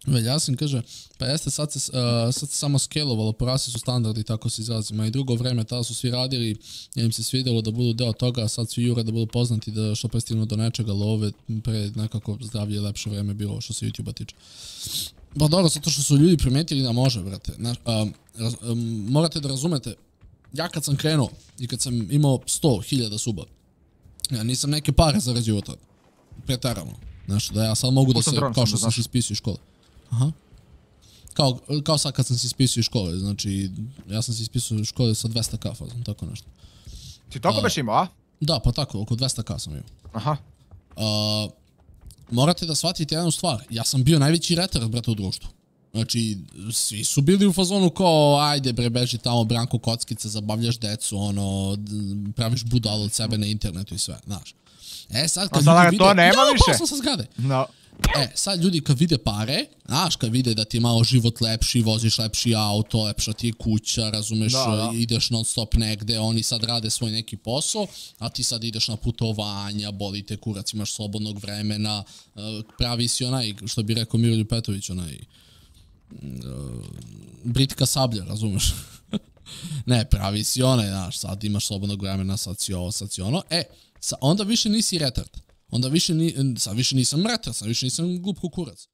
Veljasin kaže, pa jeste, sad se samo skelovalo, porasli su standardi, tako se izrazima. I drugo vreme, tada su svi radili, im se svidjelo da budu deo toga, a sad svi jure da budu poznati, da što prestignu do nečega, ali ove pre nekako zdravlje i lepše vreme bilo što se YouTube-a tiče. Pa dobro, zato što su ljudi primetili da može, brate. Morate da razumete, ja kad sam krenuo i kad sam imao 100.000 suba, ja nisam neke pare zarađivo tada. Pretarano. Znaš, da ja sad mogu da se, kao što sam se ispisao iz škole. Aha. Kao sad kad sam se ispisao iz škole, znači, ja sam se ispisao iz škole sa 200k fazom, tako nešto. Ti toliko beš imao, a? Da, pa tako, oko 200k sam imao. Aha. Morate da shvatite jednu stvar, ja sam bio najveći retard, brate, u društvu. Znači, svi su bili u fazonu kao, ajde bre, beži tamo, branko kockice, zabavljaš decu, ono, praviš budalu od sebe na internetu i sve, znaš. Sad kad ljudi vide... to nema više? Ja, posla sa zgrade. No. Sad ljudi kad vide pare, znaš, kad vide da ti je malo život lepši, voziš lepši auto, lepša ti je kuća, razumeš, ideš non stop negde, oni sad rade svoj neki posao, a ti sad ideš na putovanja, boli te kurac, imaš slobodnog vremena, pravi si onaj, što bi rekao Miroljub Petrović, onaj... Britka sablja, razumeš? Ne, pravi si onaj, znaš, sad imaš slobodnog vremena, sad si ovo, sad si ono. Onda više nisi retard. Sad više nisam retard, sad više nisam glup kukurac.